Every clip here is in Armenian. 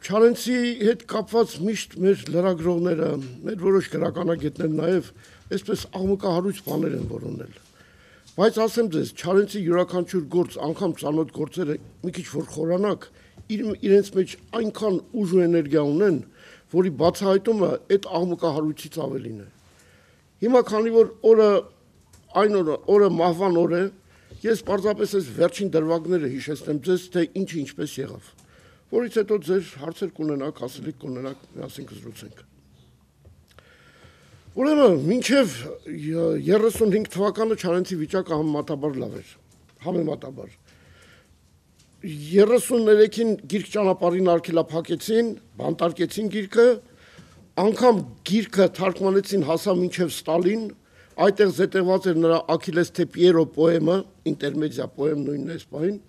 Չարենցի հետ կապված միշտ մեր լրագրողները, մեր որոշ գրականագետներ նաև այսպես աղմկահարույց բաներ են որոնել։ Բայց ասեմ ձեզ, Չարենցի յուրաքանչյուր գործ, անգամ ծանոթ գործերը մի քիչ որ խորանակ, իրենց մեջ այնքան ուժ ու էներգիա ունեն, որի բացահայտումը այդ աղմկահարույցից ավելին է։ Հիմա քանի որ օրը մահվան օր է, ես պարզապես այս վերջին դրվագները հիշեցնեմ ձեզ, թե ինչը ինչպես եղավ, որից հետո ձեր հարցեր կունենաք, ասելիք կունենաք, միասին կզրուցենք։ Ուրեմն, մինչև 35 թվականը Չարենցի վիճակը համեմատաբար լավ էր, համեմատաբար։ 33-ին գիրք ճանապարհին արգելափակեցին, բանտարկեցին գիրքը, անգամ գիրքը թարգմանեցին հասա մինչև Ստալին, այդտեղ զետեղված էր նրա Աքիլես թե Պիերո պոեմը, ինտերմեդիա պոեմ նույնն այս պահին,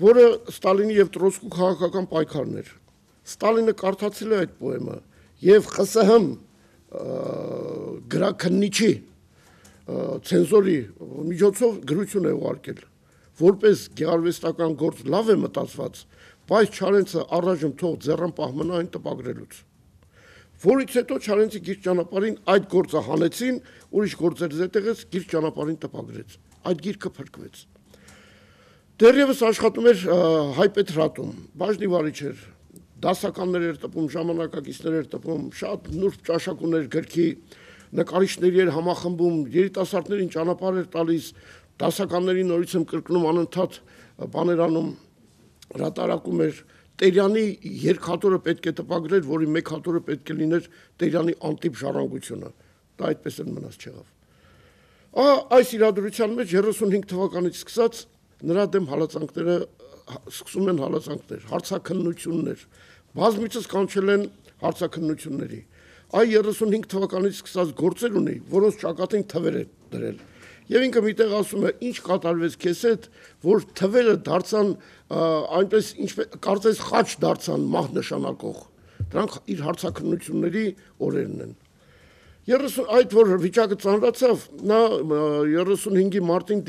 որը Ստալինի եւ Տրոցկու քաղաքական պայքարն էր։ Ստալինը կարդացել է այդ պոեմը եւ ԽՍՀՄ գրաքննիչի ցենզորի միջոցով գրություն է ուղարկել, որպես գեղարվեստական գործ լավ է մտածված, բայց Չարենցը առայժմ թող ձեռնպահ մնա այն տպագրելուց։ Որից հետո Չարենցի գիրք ճանապարհին այդ գործը հանեցին, ուրիշ գործեր զետեղեց, գիրք ճանապարհին տպագրեց։ Այդ գիրքը փրկվեց։ Դեռևս աշխատում էր Հայ Պետրատում, բաժնի վարիչ էր, դասականներ էր տպում, ժամանակակիցներ էր տպում, շատ նուրբ ճաշակ ուներ գրքի, նկարիչների էր համախմբում, երիտասարդներին ճանապարհ էր տալիս, դասականների նորից եմ կրկնում անընդհատ բաներ անում, հրատարակում էր, Տերյանի երկհատորը պետք է տպագրեր, որի մեկ հատորը պետք է լիներ Տերյանի անտիպ ժառանգությունը, դա այդպես էլ մնաց չեղավ։ Այս իրադրության մեջ 35 թվականից սկսած նրա դեմ հալածանքները սկսում են հալածանքներ, հարցաքննություններ, բազմիցս կանչել են հարցաքննությունների։ Այ 35 թվականից սկսած գործեր ունի, որոնց ճակատին թվեր է դրել։ Եվ ինքը միտեղ ասում է, ինչ կատարվեց քեզ հետ, որ թվերը դարձան այնպես կարծես խաչ դարձան մահ նշանակող։ Դրանք իր հարցաքննությունների օրերն են։ Այդ որ վիճակը ծանրացավ, նա 35-ի մարտին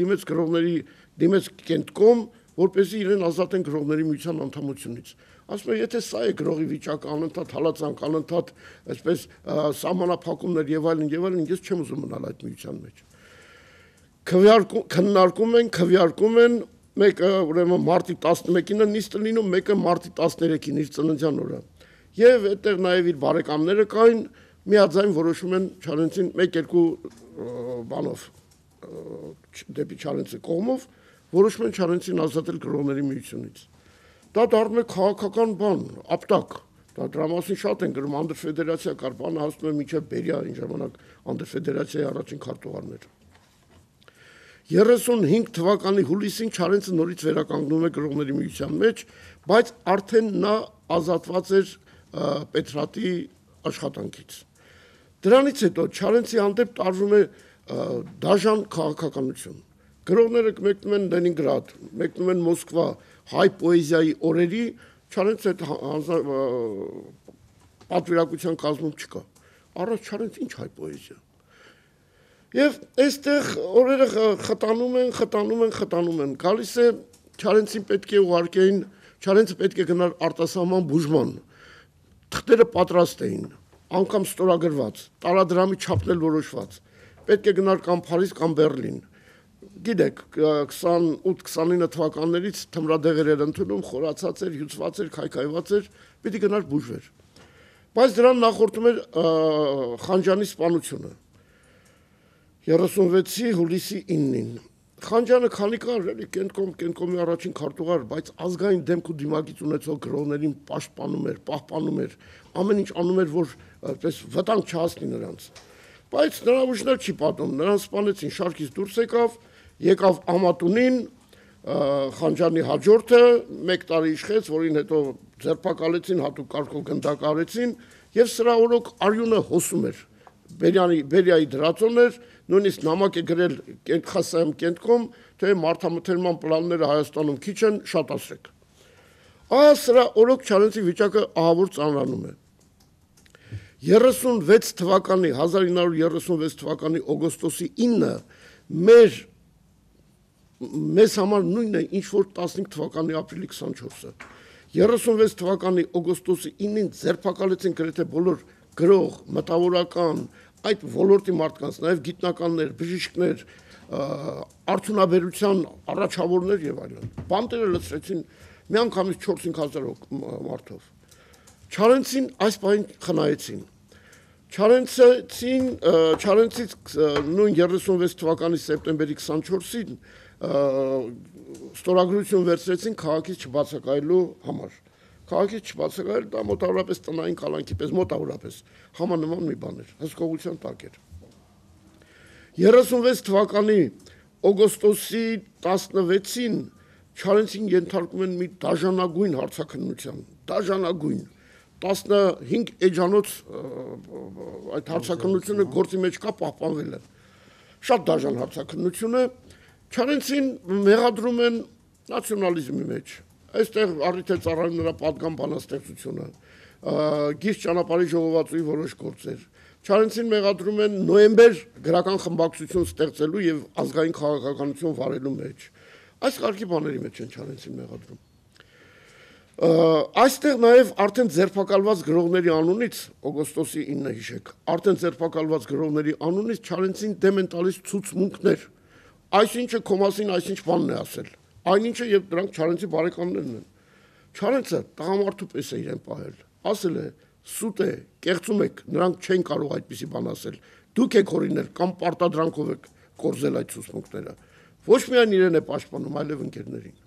դիմեց Կենտկոմ, որպեսզի իրեն ազատեն գրողների միության անդամությունից։ Ասում է, եթե սա է գրողի վիճակը, անընդհատ հալածանք, անընդհատ այսպես սահմանափակումներ եւ այլն, ես չեմ ուզում մնալ այդ միության մեջ։ Քվեարկում են, մեկը ուրեմն մարտի 11-ին է նիստը լինում, մեկը մարտի 13-ին իր ծննդյան օրը։ Եվ այդտեղ նաև իր բարեկամները կային, միաձայն որոշում են Չարենցին 1-2 բանով դեպի Չարենցի կողմով որոշում են Չարենցին ազատել գրողների միությունից։ Դա դառնում է քաղաքական բան, ապտակ։ Դա դրա մասին շատ են գրում, անդրֆեդերացիա կար, բանը հասնում է մինչև Բերիա այն ժամանակ անդրֆեդերացիայի առաջին քարտուղարներ։ 35 թվականի հուլիսին Չարենցը նորից վերականգնում է գրողների միության մեջ, բայց արդեն նա ազատված էր Պետրատի աշխատանքից։ Դրանից հետո Չարենցի հանդեպ տարվում է դաժան քաղաքականություն։ Գրողները մեկնում են Լենինգրադ, մեկնում են Մոսկվա, հայ պոեզիայի օրերի, Չարենցը պատվիրակության կազմում չկա։ Առաջ Չարենց ինչ հայ պոեզիա։ Եվ այստեղ օրերը խտանում են, գալիս է Չարենցին պետք է ուղարկեին, Չարենցը պետք է գնար արտասահման բուժման, թղթերը պատրաստ էին, անգամ ստորագրված, տարադրամի չափն էլ որոշված, պետք է գնար կամ Փարիզ կամ Բեռլին, գիտեք, 28-29 թվականներից թմրադեղեր էր ընդունում, խորացած էր, հյուծված էր, քայքայված էր, պիտի գնար բուժվեր, բայց դրան նախորդում էր Խանջյանի սպանությունը 36-ի հուլիսի 9-ին։ Խանջյանը քանի կար, էլի Կենտկոմի առաջին քարտուղար, բայց ազգային դեմք ու դիմագիծ ունեցող գրողներին պահպանում էր, ամեն ինչ անում էր, որ այդպես վտանգ չհասնի նրանց։ Բայց նրա ուժներ չի պատում, նրան սպանեցին, շարքից դուրս եկավ Ամատունին, Խանջյանի հաջորդը, 1 տարի իշխեց, որին հետո ձերբակալեցին, հատուկ կարգով գնդակարեցին, եւ սրա օրոք արյունը հոսում էր։ Բերիայի դրածոն էր, նույնիսկ նամակ է գրել ԽՍՀՄ Կենտկոմ, թե մարդամթերման պլանները Հայաստանում քիչ են, շատացրեք։ Սրա օրոք Չարենցի վիճակը ահավոր ծանրանում է։ 1936 թվականի օգոստոսի 9-ը մեզ համար նույնն է, ինչ որ 15 թվականի ապրիլի 24-ը։ 36 թվականի օգոստոսի 9-ին ձերբակալեցին գրեթե բոլոր գրող, մտավորական, այդ ոլորտի մարդկանց, նաև գիտնականներ, բժիշկներ, արդյունաբերության առաջավորներ եւ այլն։ Բանտերը լցրեցին միանգամից 4-5 հազար մարդով։ Չարենցին այս բանին խնայեցին։ Չարենցից նույն 36 թվականի սեպտեմբերի 24-ին ստորագրություն վերցրեցին քաղաքից չբացակայելու համար։ Քաղաքից չբացակայել դա մոտավորապես տնային կալանքի պես մոտավորապես համանման մի բան էր, հսկողության տակ էր։ 36 թվականի օգոստոսի 16-ին Չարենցին ենթարկում են մի դաժանագույն հարցաքննության, դաժանագույն 15 էջանոց այդ հարցաքննությունը գործի մեջ կա պահպանվել է։ Շատ դաժան հարցաքննություն է, Չարենցին մեղադրում են նացիոնալիզմի մեջ։ Այստեղ առիթ է ծառայում նրա պատգամ բանաստեղծությունը, գիրք ճանապարհի ժողովածուի որոշ գործեր։ Չարենցին մեղադրում են նոյեմբեր գրական խմբակցություն ստեղծելու եւ ազգային քաղաքականություն վարելու մեջ։ Այս կարգի բաների մեջ են Չարենցին մեղադրում։ Այստեղ նաև արդեն ձերբակալված գրողների անունից օգոստոսի 9-ը հիշեք, արդեն ձերբակալված գրողների անունից Չարենցին դեմ են տալիս ցուցմունքներ։ Այսինչը քո մասին այսինչ բանն է ասել։ Այնինչը եւ դրանք Չարենցի բարեկամներն են։ Չարենցը տղամարդու պես է իրեն պահել։ Ասել է. «Սուտ է, կեղծում եք, նրանք չեն կարող այդպիսի բան ասել։ Դուք եք օրինել կամ պարտադրանքով եք կորզել այդ ցուցմունքները»։ Ոչ միայն իրեն է պաշտպանում, այլև ընկերներին։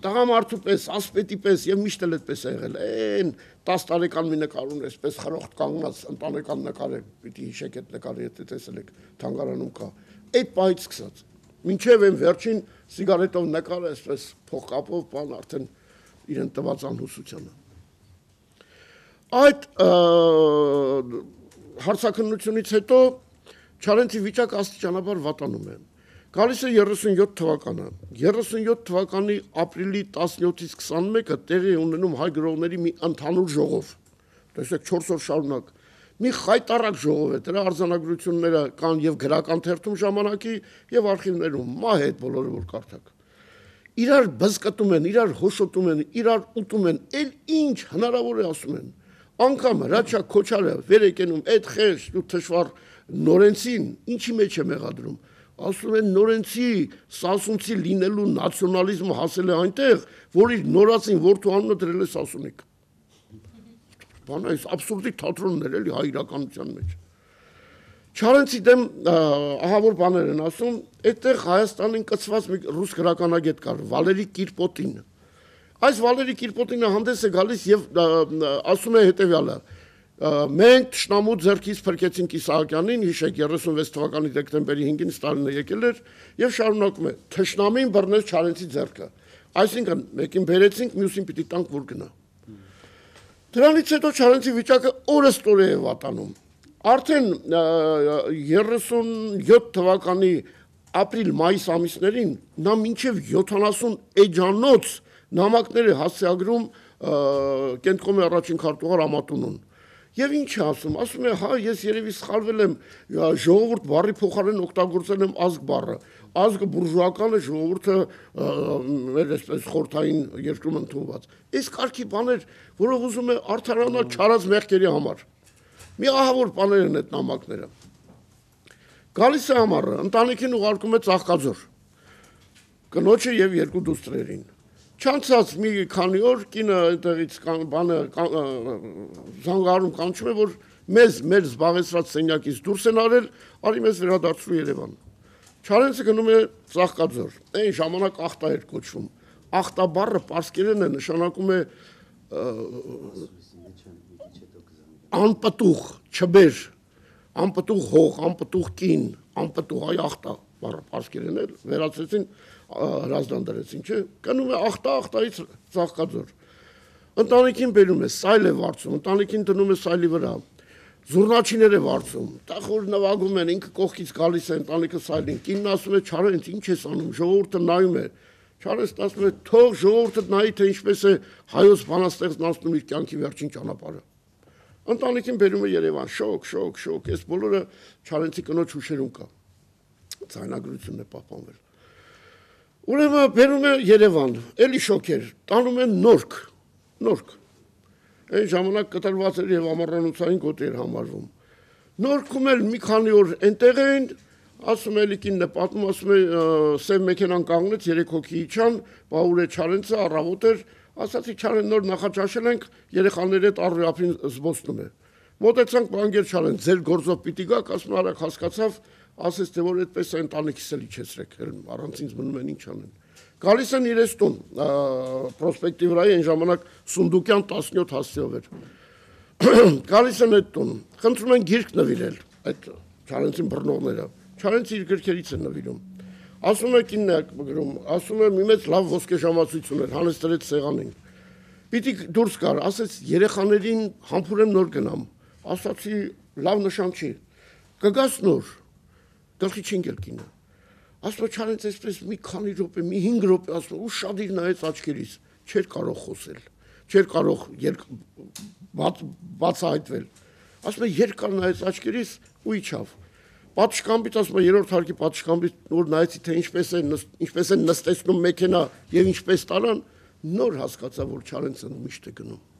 Տղամարդու պես, ասպետի պես եւ միշտ էլ այդպես է եղել։ Այն 10 տարեկան մի նկար ունի, այսպես խրոխտ կանգնած ընտանեկան նկար է, պիտի հիշեք այդ նկարը, եթե տեսել եք թանգարանում կա։ Այդ պահից սկսած։ Մինչև այն վերջին սիգարետով նկարը, այսպես փողկապով, բան արդեն իրեն տված անհուսությանը։ Այդ հարցաքննությունից հետո Չարենցի վիճակը աստիճանաբար վատանում է։ Գալիս է 37 թվականը։ 37 թվականի ապրիլի 17-ից 21-ը տեղի ունենում հայ գրողների մի ընդհանուր ժողով։ Տեսեք 4 օր շարունակ։ Մի խայտառակ ժողով է, դրա արձանագրությունները կան եւ գրական թերթում ժամանակի եւ արխիվներում, մահ է այդ բոլորը որ կարդաք։ Իրար բզկտում են, իրար հոշոտում են, իրար ուտում են, էլ ինչ հնարավոր է ասում են։ Անկամ Հրաչյա Քոչարը վեր եկնում այդ խեղճ ու թշվառ Նորենցին ինչի մեջ է մեղադրում։ Ասում են Նորենցի Սասունցի լինելու նացիոնալիզմը հասել է այնտեղ, որ իր նորածին որդու անունը դրել է Սասունիկ։ Բան այս абսուրդիկ թատրոններ էլի հայ իրականության մեջ։ Չարենցի դեմ ահավոր բաներ են ասում, այդտեղ Հայաստանին կցված մի ռուս գրականագետ կար, Վալերի Կիրպոտին։ Այս Վալերի Կիրպոտինը հանդես է գալիս եւ ասում է հետեւյալը. մենք Տշնամու ձեռքից փրկեցինք Իսահակյանին, հիշեք 36 թվականի դեկտեմբերի 5-ին Ստալինը եկել էր եւ շարունակում է. Թշնամին բռնեց Չարենցի ձեռքը։ Այսինքն մեկին բերեցինք, մյուսին պիտի տանք որ գնա։ Դրանից հետո Չարենցի վիճակը օրըստօրե է վատանում։ Արդեն 37 թվականի ապրիլ-մայիս ամիսներին նա մինչև 70 էջանոց նամակներ է հասցեագրում Կենտկոմի առաջին քարտուղար Ամատունուն։ Եվ ինչ է ասում, ասում է, հա, ես երևի սխալվել եմ, ժողովուրդ բառի փոխարեն օգտագործել եմ ազգ բառը։ Ազգը բուրժուական է, ժողովուրդը մեր այսպես խորթային երկրում ընդունված։ Այս կարգի բաներ, որով ուզում է արդարանալ չարած մեղքերի համար։ Մի ահավոր բաներ են այդ նամակները։ Գալիս է ամառը, ընտանիքին ուղարկում է Ծաղկաձոր, կնոջը եւ երկու դուստրերին։ Չանցած մի քանի օր կինը այդտեղից բանը զանգարում կանչում է, որ մեր զբաղեցրած սենյակից դուրս են արել, արի մեզ վերադարձրու Երևան։ Չարենցը գնում է Ծաղկաձոր, այն ժամանակ ախտա էր կոչվում։ Ախտա բառը պարսկերեն է, նշանակում է անպտուղ, չբեր, անպտուղ հող, անպտուղ կին, անպտուղ այ ախտա բառը պարսկերեն է, վերացրեցին հրազդան դրեցին, չէ, գնում է ախտայից Ծաղկաձոր։ Ընտանիքին բերում է, սայլ է վարձում, ընտանիքին դնում է սայլի վրա, զուռնաչիներ է վարձում, տախոր նվագում են, ինքը կողքից գալիս է ընտանիքը սայլին, կինն ասում է Չարենց, ինչ ես անում, ժողովուրդը նայում է, Չարենցն ասում է, թող ժողովուրդը նայի, թե ինչպես է հայոց բանաստեղծն անցնում իր կյանքի վերջին ճանապարհը։ Ընտանիքին բերում է Երևան, շոկ, այս բոլորը Չարենցի կնոջ հուշերում կա, ձայնագրությունն է պահպանվել։ Ուրեմն բերում է Երևան, էլի շոկ էր, տանում են Նորք, նորք։ Այն ժամանակ կտրված էր եւ ամառանոցային գոտի էր համարվում։ Նորքում էլ մի քանի օր այնտեղ էին, ասում էլի կինն է պատմում, ասում է սև մեքենան կանգնեց, 3 հոգի իջան, Պաուլե Չարենցը առավոտ էր, ասացի Չարեն նոր նախաճաշել ենք, երեխաների հետ առօրյապին զբոսնում է։ Մոտեցանք բանկեր Չարեն, ձեր գործով պիտի գաք, ասում արագ հասկացավ, ասեց թե որ այդպես է ընտանիքիս էլ իջեցրեք, առանց ինձ մնում են ինչ անեն։ Գալիս են իրենց տուն, պրոսպեկտի վրա այն ժամանակ Սունդուկյան 17 հասցեով էր։ Գալիս են այդ տուն, խնդրում են գիրք նվիրել, այդ Չարենցին բռնողները։ Չարենցը իր գրքերից են նվիրում։ Ասում է կինն է գրում, ասում է մի մեծ լավ ոսկե ժամացույց ուներ, հանեց դրեց սեղանին։ Պիտի դուրս գար, ասեց երեխաներին համբուրեմ նոր գնամ։ Ասացի լավ նշան չի։ Կգաս նոր։ Գլխի չընկել կինը։ Ասում է Չարենցը այսպես մի քանի րոպե, մի 5 րոպե ասում ու շադիր նայեց աչքերից, չէր կարող խոսել, չէր կարող բացահայտվել։ Ասում է երկար նայեց աչքերից ու իջավ։ Պատշգամբից ասում է երրորդ հարկի պատշգամբից նոր նայեցի թե ինչպես են նստեցնում մեքենա եւ ինչպես տարան, նոր հասկացա որ Չարենցը միշտ է գնում։